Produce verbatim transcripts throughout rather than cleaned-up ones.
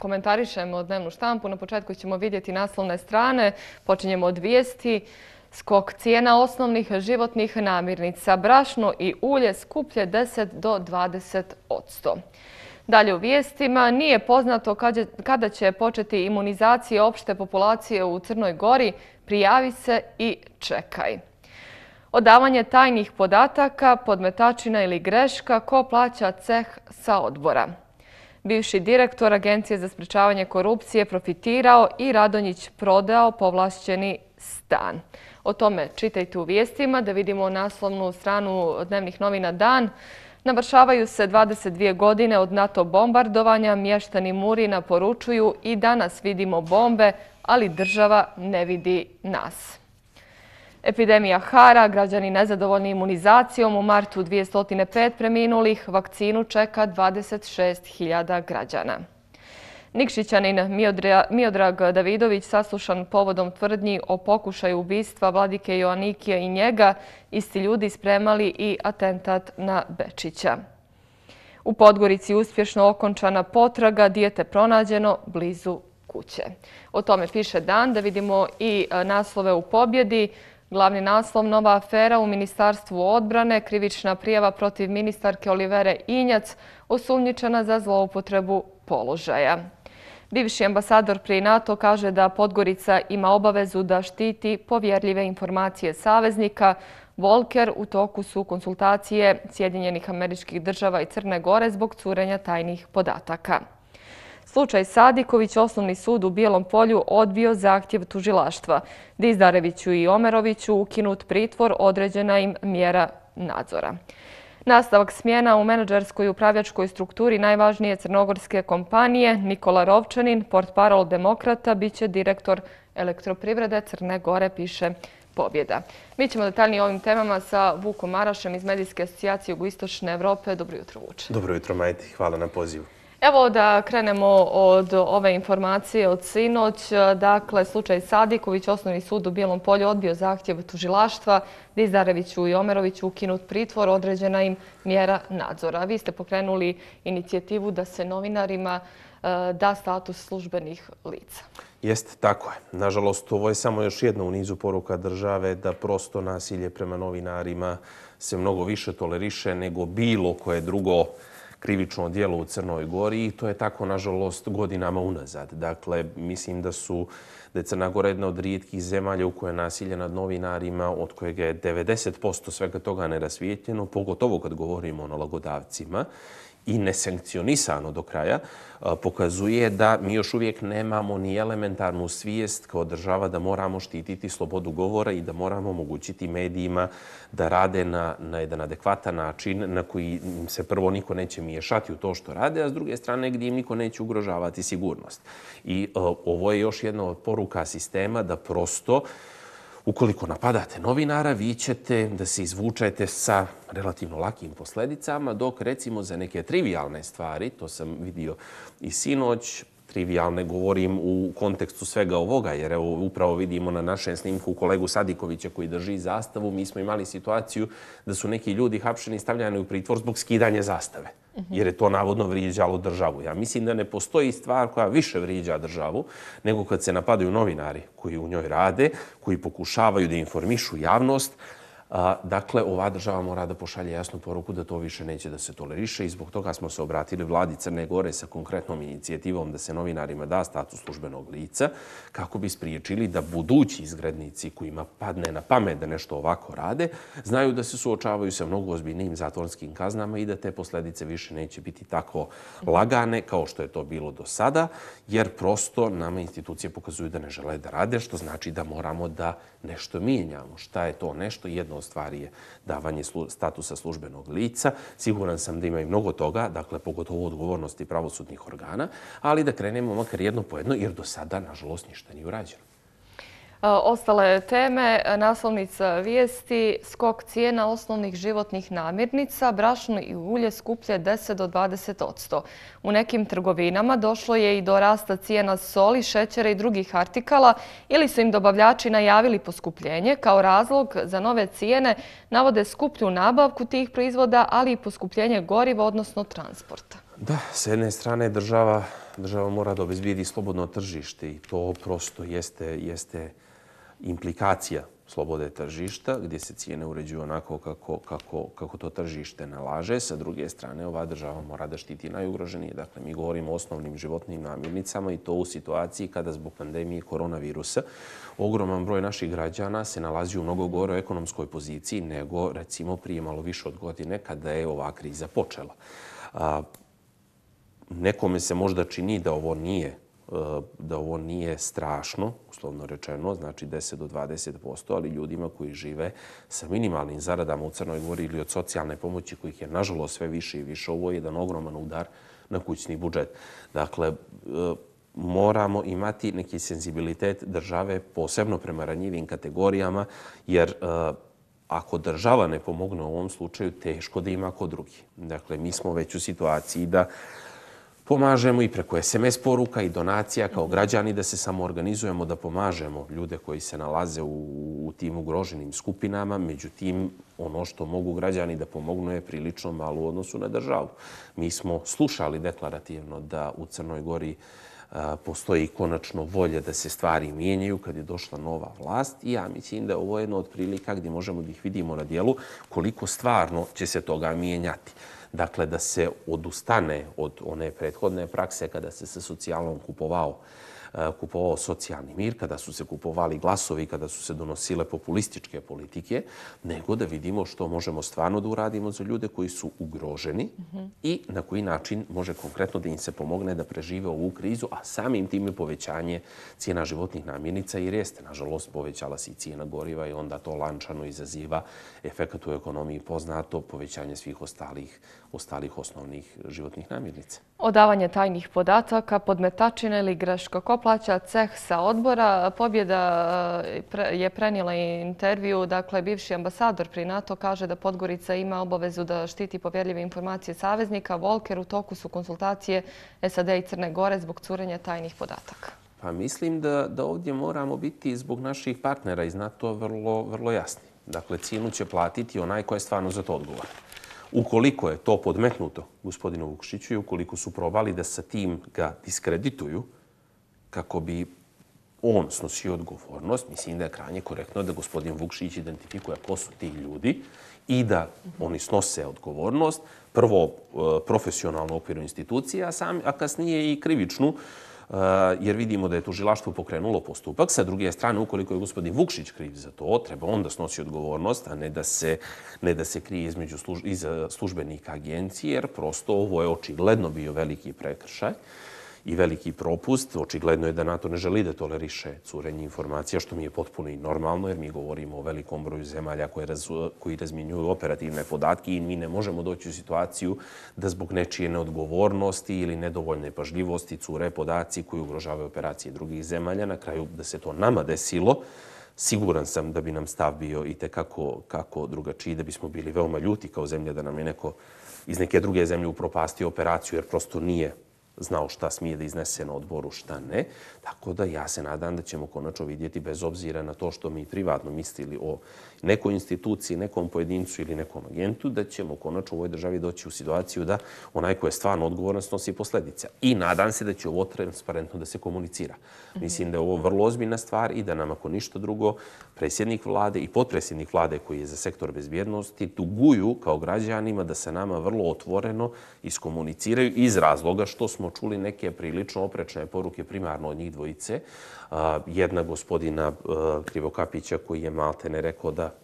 komentarišemo dnevnu štampu. Na početku ćemo vidjeti naslovne strane. Počinjemo od vijesti. Skok cijena osnovnih životnih namirnica. Brašno i ulje skuplje deset do dvadeset posto. Dalje u vijestima. Nije poznato kada će početi imunizacija opšte populacije u Crnoj Gori. Prijavi se i čekaj. Odavanje tajnih podataka, podmetačina ili greška, ko plaća ceh sa odbora. Bivši direktor Agencije za sprečavanje korupcije profitirao i Radonjić prodao povlašćeni stan. O tome čitajte u vijestima, da vidimo naslovnu stranu dnevnih novina Dan. Navršavaju se dvadeset dvije godine od NATO bombardovanja, mještani Murina poručuju i danas vidimo bombe, ali država ne vidi nas. Epidemija hara, građani nezadovoljni imunizacijom, u martu dvjesto pet preminulih, vakcinu čeka dvadeset šest hiljada građana. Nikšićanin Miodrag Davidović saslušan povodom tvrdnji o pokušaju ubistva vladike Joanikija i njega, isti ljudi spremali i atentat na Bečića. U Podgorici uspješno okončana potraga, dijete pronađeno blizu kuće. O tome piše Dan, da vidimo i naslove u Pobjedi. Glavni naslov: nova afera u Ministarstvu odbrane, krivična prijava protiv ministarke Olivere Injac, osumnjičena za zloupotrebu položaja. Bivši ambasador pri NATO kaže da Podgorica ima obavezu da štiti povjerljive informacije saveznika. Volker: u toku su konsultacije Sjedinjenih Američkih Država i Crne Gore zbog curenja tajnih podataka. Slučaj Sadiković, Osnovni sud u Bijelom Polju odbio zahtjev tužilaštva. Dizdareviću i Omeroviću ukinut pritvor, određena im mjera nadzora. Nastavak smjena u menadžerskoj i upravljačkoj strukturi najvažnije crnogorske kompanije. Nikola Rovčanin, portparol Demokrata, bit će direktor Elektroprivrede Crne Gore, piše Pobjeda. Mi ćemo detaljnije o ovim temama sa Vukom Marašem iz Medijske asocijacije Jugoistočne Evrope. Dobro jutro, Vuče. Dobro jutro, Majti. Hvala na pozivu. Evo da krenemo od ove informacije od sinoć. Dakle, slučaj Sadiković, Osnovni sud u Bijelom Polju odbio zahtjev tužilaštva. Dizdareviću i Omeroviću ukinut pritvor, određena im mjera nadzora. Vi ste pokrenuli inicijativu da se novinarima da status službenih lica. Jeste, tako je. Nažalost, ovo je samo još jedna u nizu poruka države da prosto nasilje prema novinarima se mnogo više toleriše nego bilo koje drugo krivično djelo u Crnoj Gori i to je tako, nažalost, godinama unazad. Dakle, mislim da su da je Crna Gora jedna od rijetkih zemalja u kojoj je nasilje nad novinarima, od kojeg je devedeset posto svega toga nerasvijetljeno, pogotovo kad govorimo o nalogodavcima, i nesankcionisano do kraja, pokazuje da mi još uvijek nemamo ni elementarnu svijest kao država da moramo štititi slobodu govora i da moramo omogućiti medijima da rade na, na jedan adekvatan način na koji im se prvo niko neće miješati u to što rade, a s druge strane gdje im niko neće ugrožavati sigurnost. I uh, ovo je još jedna od poruka sistema da prosto ukoliko napadate novinara, vi ćete da se izvučete sa relativno lakim posljedicama, dok recimo za neke trivialne stvari, to sam vidio i sinoć, trivialne govorim u kontekstu svega ovoga, jer evo upravo vidimo na našem snimku kolegu Sadikovića koji drži zastavu. Mi smo imali situaciju da su neki ljudi hapšeni i stavljani u pritvor zbog skidanja zastave, jer je to navodno vrijeđalo državu. Ja mislim da ne postoji stvar koja više vrijeđa državu nego kad se napadaju novinari koji u njoj rade, koji pokušavaju da informišu javnost. Dakle, ova država mora da pošalje jasnu poruku da to više neće da se toleriše i zbog toga smo se obratili vladi Crne Gore sa konkretnom inicijativom da se novinarima da status službenog lica kako bi spriječili da budući izgrednici kojima padne na pamet da nešto ovako rade, znaju da se suočavaju sa mnogo ozbiljnijim zatvorskim kaznama i da te posljedice više neće biti tako lagane kao što je to bilo do sada, jer prosto nama institucije pokazuju da ne žele da rade, što znači da moramo da nešto mijenjamo. Šta je to nešto? Jedno stvari je davanje statusa službenog lica. Siguran sam da ima i mnogo toga, dakle, pogotovo odgovornosti pravosudnih organa, ali da krenemo makar jedno po jedno, jer do sada, nažalost, ništa nije urađeno. Ostale teme, naslovnica vijesti: skok cijena osnovnih životnih namirnica, brašno i ulje skuplje deset do dvadeset posto. U nekim trgovinama došlo je i do rasta cijena soli, šećera i drugih artikala, ili su im dobavljači najavili poskupljenje. Kao razlog za nove cijene navode skuplju nabavku tih proizvoda, ali i poskupljenje goriva, odnosno transporta. Da, s jedne strane država država mora da obezbijedi slobodno tržište i to prosto jeste, jeste implikacija slobode tržišta, gdje se cijene uređuju onako kako, kako, kako to tržište nalaže. Sa druge strane, ova država mora da štiti najugroženije. Dakle, mi govorimo o osnovnim životnim namirnicama i to u situaciji kada zbog pandemije koronavirusa ogroman broj naših građana se nalazi u mnogo goroj ekonomskoj poziciji nego, recimo, prije malo više od godine kada je ova kriza počela. A, nekome se možda čini da ovo nije da ovo nije strašno, uslovno rečeno, znači deset do dvadeset posto, ali ljudima koji žive sa minimalnim zaradama u Crnoj Gori ili od socijalne pomoći kojih je nažalost sve više i više, ovo je jedan ogroman udar na kućni budžet. Dakle, moramo imati neki senzibilitet države posebno prema ranjivim kategorijama, jer ako država ne pomogne u ovom slučaju, teško da ima ko drugi. Dakle, mi smo već u situaciji da pomažemo i preko es em es poruka i donacija kao građani da se samo organizujemo, da pomažemo ljude koji se nalaze u, u tim ugroženim skupinama. Međutim, ono što mogu građani da pomognu je prilično malo u odnosu na državu. Mi smo slušali deklarativno da u Crnoj Gori a, postoji konačno volja da se stvari mijenjaju kad je došla nova vlast i ja mislim da ovo je jedna od prilika gdje možemo da ih vidimo na dijelu koliko stvarno će se toga mijenjati. Dakle, da se odustane od one prethodne prakse kada se sa socijalom kupovao, kupovao socijalni mir, kada su se kupovali glasovi, kada su se donosile populističke politike, nego da vidimo što možemo stvarno da uradimo za ljude koji su ugroženi mm-hmm. i na koji način može konkretno da im se pomogne da prežive ovu krizu, a samim tim je povećanje cijena životnih namirnica jer jeste, nažalost, povećala se i cijena goriva i onda to lančano izaziva efekat u ekonomiji poznato, povećanje svih ostalih, ostalih osnovnih životnih namirnica. Odavanje tajnih podataka, podmetačine ili greško. Ko plaća ceh sa odbora? Pobjeda je prenijela intervju. Dakle, bivši ambasador pri NATO kaže da Podgorica ima obavezu da štiti povjerljive informacije saveznika. Volker, u toku su konsultacije es a de i Crne Gore zbog curenja tajnih podataka. Pa mislim da, da ovdje moramo biti zbog naših partnera iz NATO vrlo, vrlo jasni. Dakle, cijenu će platiti onaj ko je stvarno za to odgovoran. Ukoliko je to podmetnuto gospodinu Vukšiću i ukoliko su probali da sa tim ga diskredituju kako bi on snosio odgovornost, mislim da je krajnje korektno da gospodin Vukšić identifikuje ko su ti ljudi i da oni snose odgovornost, prvo profesionalno u okviru institucija, a, sam, a kasnije i krivičnu, jer vidimo da je tužilaštvo pokrenulo postupak. Sa druge strane, ukoliko je gospodin Vukšić kriv za to, treba on da snosi odgovornost, a ne da se, ne da se krije između služ, iza službenika agencije, jer prosto ovo je očigledno bio veliki prekršaj i veliki propust. Očigledno je da NATO ne želi da toleriše curenje informacija, što mi je potpuno i normalno, jer mi govorimo o velikom broju zemalja koje raz, koji razmjenjuju operativne podatke i mi ne možemo doći u situaciju da zbog nečije neodgovornosti ili nedovoljne pažljivosti cure podaci koji ugrožavaju operacije drugih zemalja. Na kraju da se to nama desilo, siguran sam da bi nam stav bio i tekako kako drugačiji, da bismo bili veoma ljuti kao zemlja da nam je neko iz neke druge zemlje upropastio operaciju, jer prosto nije znao šta smije da iznese na odboru, šta ne. Tako da ja se nadam da ćemo konačno vidjeti, bez obzira na to što mi privatno mislili o nekoj instituciji, nekom pojedincu ili nekom agentu, da ćemo konačno u ovoj državi doći u situaciju da onaj ko je stvarno odgovoran snosi posljedice. I nadam se da će ovo transparentno da se komunicira. Mislim da je ovo vrlo ozbiljna stvar i da nam, ako ništa drugo, predsjednik vlade i potpredsjednik vlade koji je za sektor bezbjednosti duguju kao građanima da se nama vrlo otvoreno iskomuniciraju iz razloga što smo čuli neke prilično oprečne poruke primarno od njih dvojice. Jedna gospodina Krivokapića koji je maltene rekao da,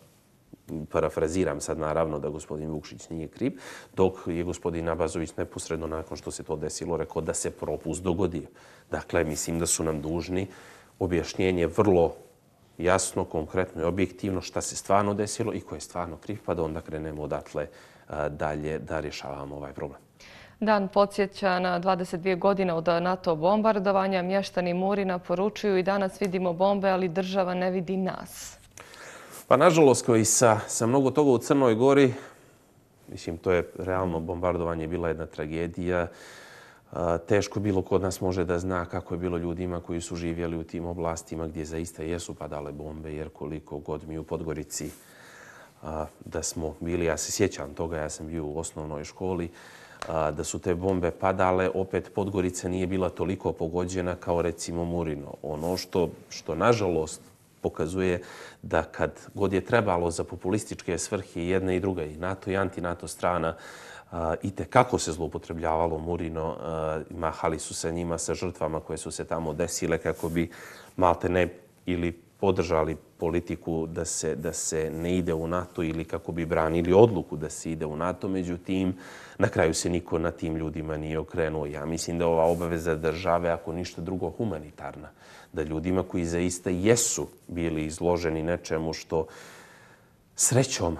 parafraziram sad naravno, da gospodin Vukšić nije kriv, dok je gospodin Abazović neposredno nakon što se to desilo rekao da se propust dogodio. Dakle, mislim da su nam dužni objašnjenje vrlo jasno, konkretno i objektivno šta se stvarno desilo i ko je stvarno kriv, pa da onda krenemo odatle dalje da rješavamo ovaj problem. Dan podsjeća na dvadeset dvije godine od NATO bombardovanja. Mještani Murina poručuju i danas vidimo bombe, ali država ne vidi nas. Pa nažalost, kao i sa, sa mnogo toga u Crnoj Gori, mislim, to je realno bombardovanje bila jedna tragedija. Teško bilo kod nas može da zna kako je bilo ljudima koji su živjeli u tim oblastima gdje zaista jesu padale bombe, jer koliko god mi u Podgorici da smo bili, ja se sjećam toga, ja sam bio u osnovnoj školi, da su te bombe padale, opet Podgorica nije bila toliko pogođena kao recimo Murino. Ono što, što nažalost pokazuje da kad god je trebalo za populističke svrhe jedna i druga, i NATO i anti-NATO strana, i tekako se zloupotrebljavalo Murino, mahali su sa njima, sa žrtvama koje su se tamo desile kako bi malte ne ili podržali politiku da se, da se ne ide u NATO ili kako bi branili odluku da se ide u NATO. Međutim, na kraju se niko na tim ljudima nije okrenuo. Ja mislim da ova obaveza države, ako ništa drugo, humanitarna. Da ljudima koji zaista jesu bili izloženi nečemu što srećom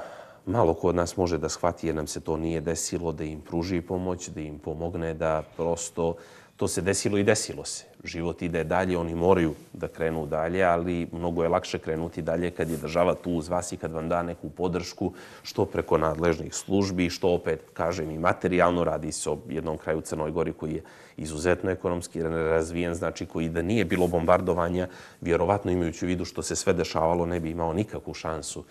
malo ko od nas može da shvati jer nam se to nije desilo, da im pruži pomoć, da im pomogne da prosto to se desilo i desilo se. Život ide dalje, oni moraju da krenu dalje, ali mnogo je lakše krenuti dalje kad je država tu uz vas i kad vam da neku podršku, što preko nadležnih službi, što opet, kažem, i materijalno. Radi se o jednom kraju Crnoj Gori koji je izuzetno ekonomski razvijen, znači koji da nije bilo bombardovanja, vjerovatno imajući u vidu što se sve dešavalo, ne bi imao nikakvu šansu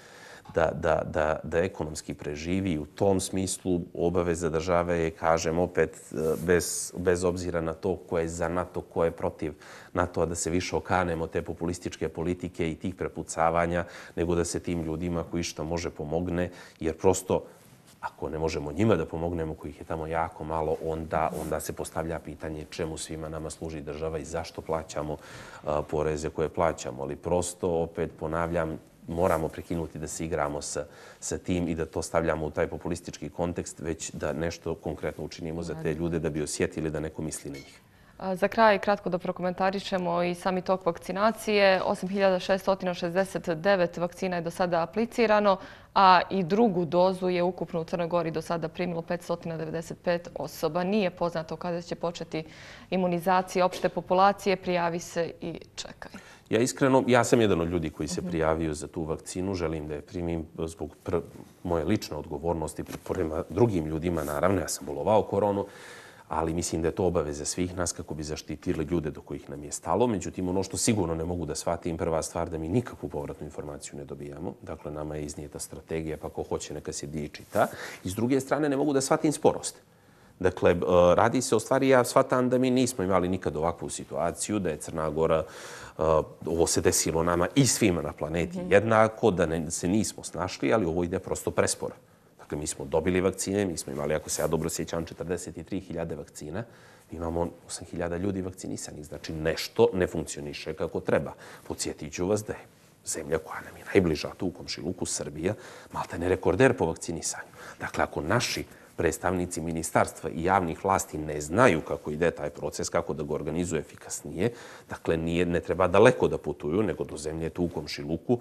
da, da, da, da ekonomski preživi. U tom smislu obaveza države je, kažem, opet bez, bez obzira na to ko je za NATO, ko je protiv NATO-a, da se više okanemo te populističke politike i tih prepucavanja, nego da se tim ljudima koji što može pomogne, jer prosto ako ne možemo njima da pomognemo, kojih je tamo jako malo, onda, onda se postavlja pitanje čemu svima nama služi država i zašto plaćamo a, poreze koje plaćamo. Ali prosto, opet ponavljam, moramo prekinuti da se igramo sa, sa tim i da to stavljamo u taj populistički kontekst, već da nešto konkretno učinimo za te ljude da bi osjetili da neko misli na njih. Za kraj, kratko da prokomentarišemo i sami tok vakcinacije. osam hiljada šesto šezdeset devet vakcina je do sada aplicirano, a i drugu dozu je ukupno u Crnoj Gori do sada primilo petsto devedeset pet osoba. Nije poznato kada će početi imunizacija opšte populacije. Prijavi se i čekaj. Ja iskreno, ja sam jedan od ljudi koji se prijavio za tu vakcinu. Želim da je primim zbog pr moje lične odgovornosti prema drugim ljudima. Naravno, ja sam bolovao koronu, ali mislim da je to obaveza svih nas kako bi zaštitili ljude do kojih nam je stalo. Međutim, ono što sigurno ne mogu da shvatim, prva stvar da mi nikakvu povratnu informaciju ne dobijamo. Dakle, nama je iznijeta strategija, pa ko hoće neka se diči ta. I s druge strane, ne mogu da shvatim sporost. Dakle, radi se o stvari, ja shvatam da mi nismo imali nikad ovakvu situaciju, da je Crna Gora, ovo se desilo nama i svima na planeti jednako, da ne, se nismo snašli, ali ovo ide prosto presporo. Dakle, mi smo dobili vakcine, mi smo imali, ako se ja dobro sjećam, četrdeset tri hiljade vakcina. Mi imamo osam hiljada ljudi vakcinisanih. Znači, nešto ne funkcioniše kako treba. Podsjetit ću vas da je zemlja koja nam je najbliža tu u komšiluku, Srbija, malte ne rekorder po vakcinisanju. Dakle, ako naši predstavnici ministarstva i javnih vlasti ne znaju kako ide taj proces, kako da ga organizuje efikasnije, dakle, nije, ne treba daleko da putuju, nego do zemlje tu u komšiluku,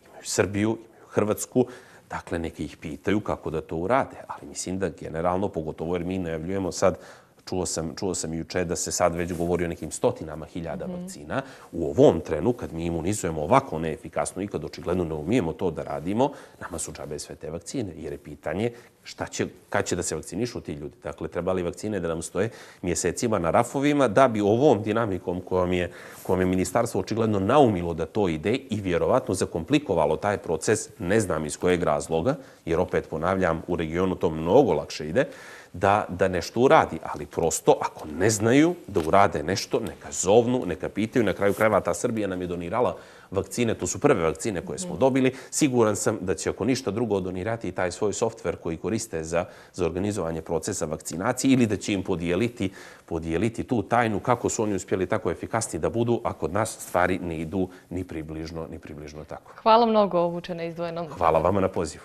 imaju Srbiju, imaju Hrvatsku. Dakle, neke ih pitaju kako da to urade, ali mislim da generalno, pogotovo jer mi najavljujemo sad, čuo sam, čuo sam juče da se sad već govori o nekim stotinama hiljada mm-hmm. vakcina. U ovom trenu, kad mi imunizujemo ovako neefikasno i kad očigledno ne umijemo to da radimo, nama su džabe sve te vakcine, jer je pitanje šta će, kad će da se vakcinišu ti ljudi. Dakle, trebali vakcine da nam stoje mjesecima na rafovima da bi ovom dinamikom kojom je, kojom je ministarstvo očigledno naumilo da to ide i vjerovatno zakomplikovalo taj proces, ne znam iz kojeg razloga, jer opet ponavljam, u regionu to mnogo lakše ide, da, da nešto uradi. Ali prosto, ako ne znaju da urade nešto, neka zovnu, neka pitaju. Na kraju krajeva ta Srbija nam je donirala vakcine, to su prve vakcine koje smo dobili. Siguran sam da će ako ništa drugo donirati i taj svoj softver koji koriste za, za organizovanje procesa vakcinacije ili da će im podijeliti, podijeliti tu tajnu kako su oni uspjeli tako efikasni da budu, a kod nas stvari ne idu ni približno, ni približno tako. Hvala mnogo, Vučene Izdvojenom. Hvala vama na pozivu.